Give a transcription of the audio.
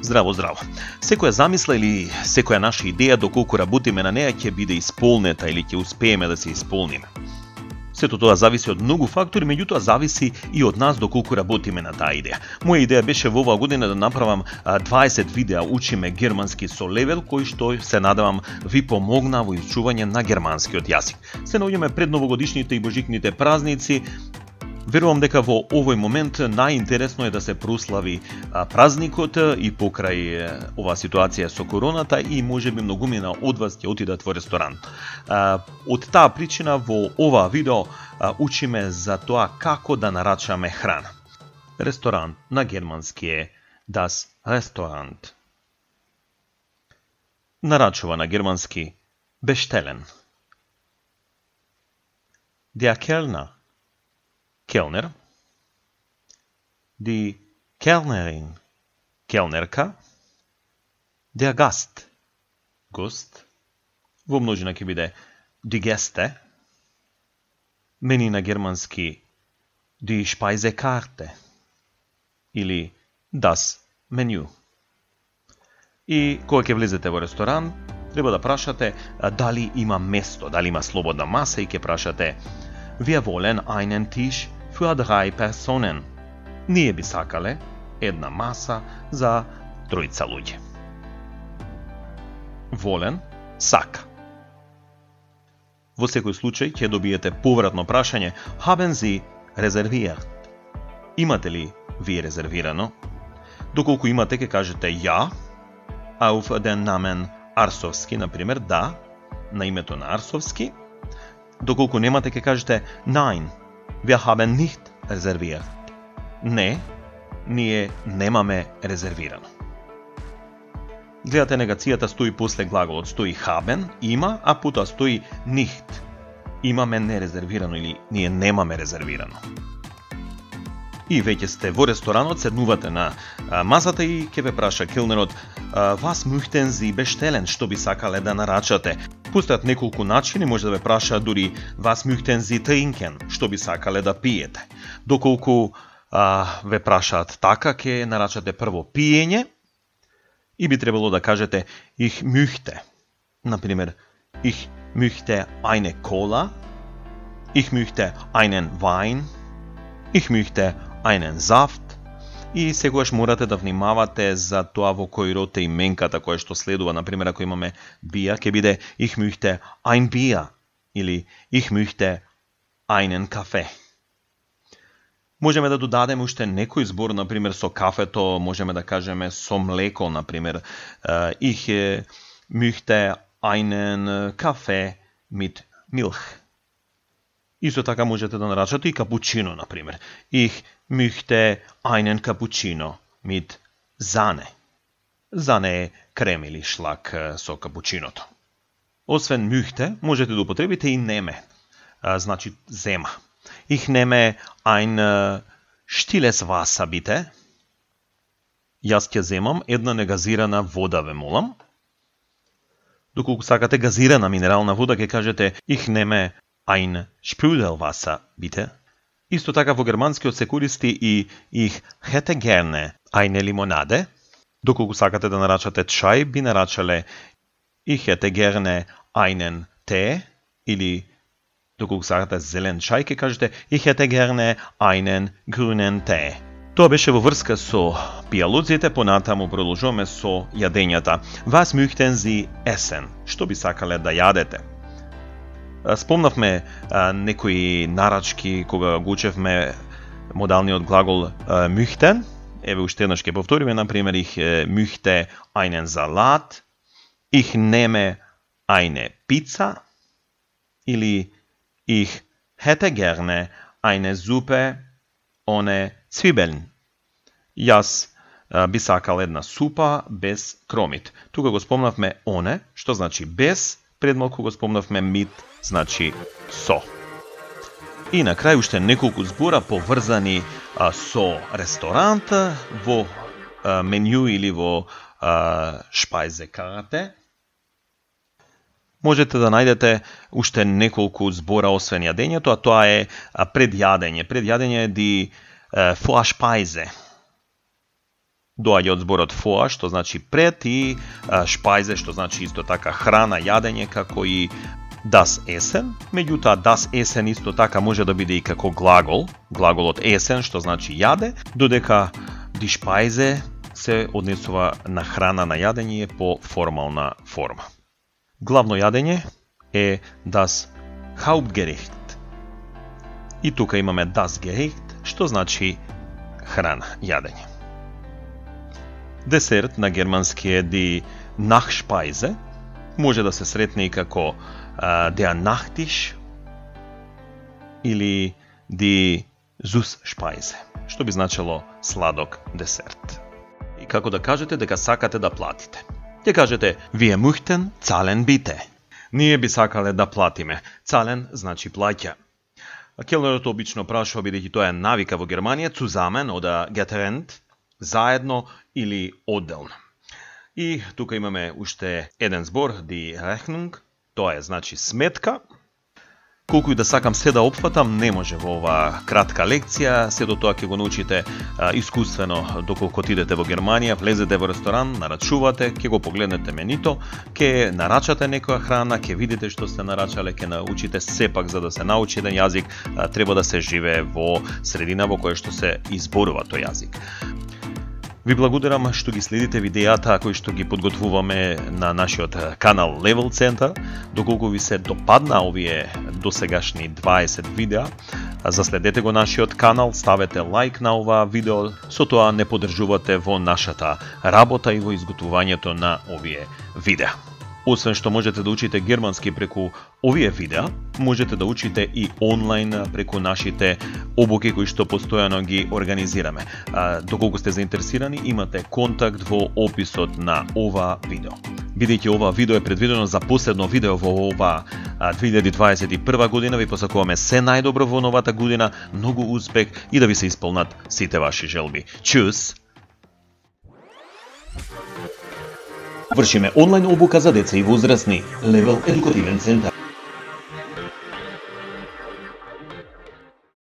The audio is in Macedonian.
Здраво, здраво. Секоја замисла или секоја наша идеја доколку работиме на неа ќе биде исполнета или ќе успееме да се исполниме. Сето тоа зависи од многу фактори, меѓутоа зависи и од нас доколку работиме на таа идеја. Моја идеја беше во оваа година да направам 20 видеа учиме германски со левел, кои што се надевам ви помогна во изучување на германскиот јазик. Се наоѓаме пред новогодишните и божикните празници. Верувам дека во овој момент најинтересно е да се прослави празникот и покрај оваа ситуација со короната и можеби многумина од вас ќе отидат во ресторан. Од таа причина во ова видео учиме за тоа како да нарачаме храна. Ресторан на германски е das Restaurant. Нарачува на германски bestellen. Der Kellner. Kellner, die Kellnerin, Kellnerka, der Gast, Gust, во множина ќе биде die Gäste, мени на германски die Speisekarte или das Menü. И кога ќе влезете во ресторан, треба да прашате дали има место, дали има слободна маса и ќе прашате Wir wollen einen Tisch für 3 Personen. Ние би сакале една маса за тројца луѓе. Wollen, сака. Во секој случај ќе добиете повратно прашање Haben Sie reserviert? Имате ли вие резервирано? Доколку имате ќе кажете ja, auf den Namen Арсовски, например, да, на името на Арсовски. Доколку немате ќе кажете Nein, wir haben nicht reserviert. Не, ние немаме резервирано. Гледате, негацијата стои после глаголот, стои haben, има, а потоа стои nicht. Имаме нерезервирано или ние немаме резервирано. И веќе сте во ресторанот, седнувате на масата и ќе ве праша келнерот Was möchten Sie bestellen? Што би сакале да нарачате? Постојат неколку начини, може да ве праша дури Was möchten Sie trinken? Што би сакале да пиете? Доколку ве прашаат така, ќе нарачате прво пиење и би требало да кажете Ich möchte. Например, Ich möchte eine Cola, Ich möchte einen Wein, Ich möchte einen Saft. И секогаш морате да внимавате за тоа во кој род е именката која што следува. Например, ако имаме бија, ќе биде Ich möchte ein Bier или Ich möchte einen Kaffee. Можеме да додадеме уште некој збор, например со кафето, можеме да кажеме со млеко, например Ich möchte einen Kaffee mit Milch. Исто така можете да нарачате и капучино, например. Ich möchte einen Cappuccino mit Sahne. Sahne е крем или шлак со капучиното. Освен möchte, можете да употребите и неме. Значи зема. Ich nehme ein stilles Wasser, bitte. Јас ќе земам една негазирана вода, ве молам. Доколку сакате газирана минерална вода, ќе кажете Ich nehme ein Sprudelwasser, bitte. Исто така во германскиот се користи и Ich hätte gerne eine Limonade. Доколку сакате да нарачате чај, би нарачале Ich hätte gerne einen Tee. Или доколку сакате зелен чај, ќе кажете Ich hätte gerne einen grünen Tee. Тоа беше во врска со пијалоците, понатаму продолжуваме со јадењата. Was möchten Sie essen? Што би сакале да јадете? Спомнавме некои нарачки кога го учевме модалниот глагол möchten. Еве уште еднаш ќе повториме, например Ich möchte einen Salat, Ich nehme eine Pizza или Ich hätte gerne eine Suppe ohne Zwiebeln. Јас би сакал една супа без кромит. Тука го спомнавме оне, што значи без, пред малку го спомнавме mit, значи со. И на крај уште неколку збора поврзани со ресторант во меню или во Speisekarte. Можете да најдете уште неколку збора освен јадењето, а тоа е Пред јадење е ди Vorspeise. доаѓа од зборот vor, што значи пред, и Speise, што значи исто така храна, јадење, како и das Essen. Меѓутоа, das Essen исто така може да биде и како глагол, глаголот essen, што значи јаде, додека die Speise се однесува на храна, на јадење по формална форма. Главно јадење е das Hauptgericht. И тука имаме das Gericht, што значи храна, јадење. Десерт на германски е die Nachspeise, може да се сретне и како der Nachtisch или die Süßspeise, што би значило сладок десерт. И како да кажете дека сакате да платите. Ќе кажете wir möchten zahlen bitte. Ние би сакале да платиме. Zahlen значи плаќа. Келнерот обично прашува, бидејќи тоа е навика во Германија, zusammen oder getrennt, заедно или одделно. И тука имаме уште еден збор, die Rechnung, тоа е значи сметка. Колку и да сакам се да опфатам, не може во оваа кратка лекција, се до тоа ќе го научите искуствено доколку отидете во Германија, влезете во ресторан, нарачувате, ќе го погледнете менито, ќе нарачате некоја храна, ќе видите што сте нарачале, ќе научите сепак за да се научи еден јазик, треба да се живее во средина во која што се изборува тој јазик. Ви благодарам што ги следите видеата кои што ги подготвуваме на нашиот канал Level Center. Доколку ви се допадна овие досегашни 20 видеа, заследете го нашиот канал, ставете лайк на ова видео, со тоа не поддржувате во нашата работа и во изготвувањето на овие видеа. Освен што можете да учите германски преку овие видеа, можете да учите и онлайн преку нашите обуки кои што постојано ги организираме. Доколку сте заинтересирани, имате контакт во описот на ова видео. Бидејќи ова видео е предвидено за последно видео во ова 2021 година, ви посакуваме се најдобро во новата година, многу успех и да ви се исполнат сите ваши желби. Чус! Вршиме онлайн обука за деца и возрастни. Level Едукативен центар.